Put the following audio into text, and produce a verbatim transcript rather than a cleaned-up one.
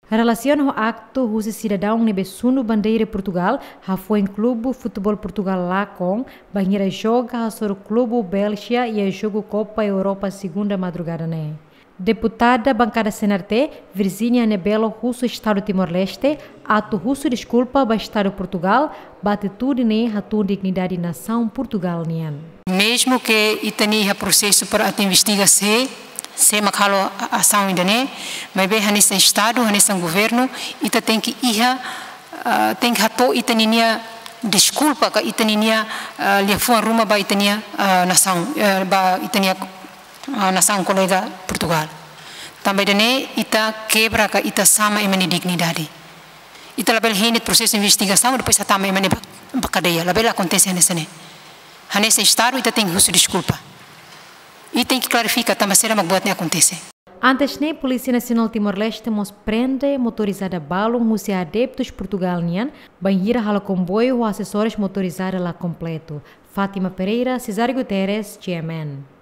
Relasiona ho aktu husi sidadaun ne'ebé sunu bandeira Portugal, hafoin klube futeból Portugal lakon, bainhira joga hasoru klube Bélxia iha jogu Kopa Europa segunda madrugada ne'e. Deputada bankada C N R T, Virginia Nebelo husu Estadu Timor-Leste, atu husu deskulpa ba Estadu Portugal, ba atitude ne'e hatún dignidade nasaun Portugal nian. Mezmu ke ita-nia iha prosesu para atu investiga sé, sé mak halo a-, asaun ida-ne'e, maibé hanesan Estadu, hanesan governu, ita tenke iha, ah, tenke hato'o ita-nia deskulpa ka ita-nia, ah, liafuan ruma ba ita-nia, ah, nasaun, eh, ba ita-nia, ah, nasaun kolega Portugal. Tanba ida-ne'e ita kebra ka ita sama ema nia dignidade. Ita labele hein de'it prosesu investigasaun, depois hatama ema ne'e ba, ba kadeia. Labele akontese hanesan ne'e. Hanesan Estadu ita tenke husu deskulpa. I tenke klarifika tanba saida mak buat ne'e akontese. Antes ne'e, Polísia Nasionál Timor-Leste mós prende motorizada balun husi adeptus Portugal nian, bainhira halo komboiu ho asesórius motorizada la kompletu. Fátima Pereira, Cesário Guterres, G M N.